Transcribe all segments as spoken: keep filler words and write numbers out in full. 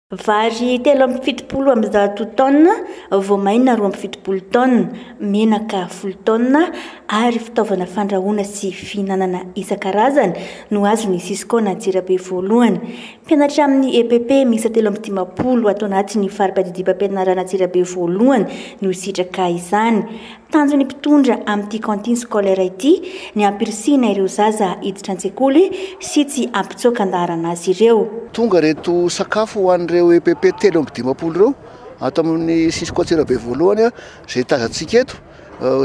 Vary telo amby fitopolo amby zato taonina, voamaina roa amby fitopolo taonina, menaka folo taonina ary fitaovana fandrahoana sy fihinanana isan-karazany no azon'ny Cisco Antsirabe voalohany. Mpianatra amin'ny E P P miisa telo amby dimampolo ato anatin'ny fari-piadidiam-pampianarana Antsirabe voalohany no hisitraka izany. Tanjon'ny mpitondra amin'ity cantine scolaire ity ny hampirisihina ireo zaza hiditra an-tsekoly sy tsy hampitsoaka an-daharana azy ireo. Tonga reto sakafo ho an'ireo E P P telo amby dimampolo ireo ato amin'ny Cisco Antsirabe voalohany a izay tazantsika eto,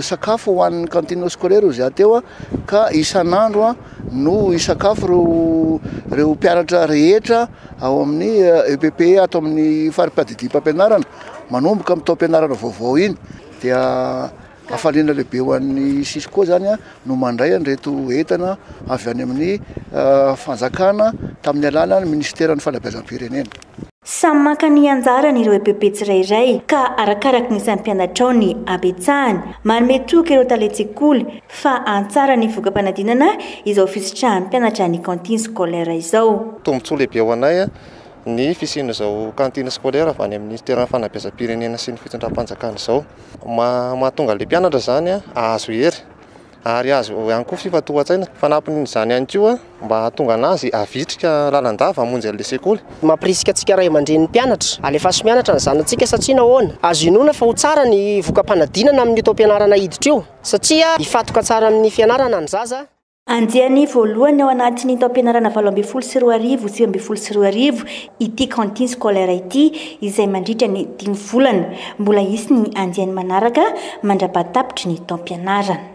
sakafo ho an'ny cantine scolaire izy teo a ka isan'andro a no isakafo reo reo mpianatra rehetra ao amin'ny E P P ato amin'ny fari-piadidiam-pampianarana manomboka amin'ny taom-pianarana vaovao iny. Dia hafaliana lehibe ho an'ny Cisco zany a no mandray an'ireto entana avy any amin'ny fanjakana tamin'ny alalan'ny ministeran'ny fanabeazam-pirenena. Samy maka ny anjarany ireo E P P tsirairay ka arakaraka ny isan'ny mpianatra ao ny habetsahany. Manome toky ireo talen-tsekoly fa hanatsara ny voka-panadinana izao fisitrahan'ny mpianatra ny cantine scolaire izao. Tombontsoa lehibe ho anay a ny fisian'izao cantine scolaire avy any amin'ny ministeran'ny fanabeazam-pirenena sy ny fitondram-panjakana izao. Ma- mahatonga le mpianatra zany a ahazo hery ary azo ihany koa fifantohan-tsaina. Fanampin'izany ihany koa mba hahatonga anazy havitrika lalandava hamonjy an'le sekoly. Mampirisika antsika ray aman-drenin'ny mpianatra, alefaso mianatra ny zanatsika satria nahoana? Azo inoana fa ho tsara ny voka-panadinana amin'ny taom-pianarana hiditra io satria hifantoka tsara amin'ny fianarana ny zaza. Andiany voalohany ao anatin'ny taom-pianarana valo ambin'ny folo sy roa arivo sivy ambin'ny folo sy roa arivo ity cantine scolaire ity izay mandritra ny dimy volana. Mbola hisy ny andiany manaraka mandra-pahatapitry ny taom-pianarana.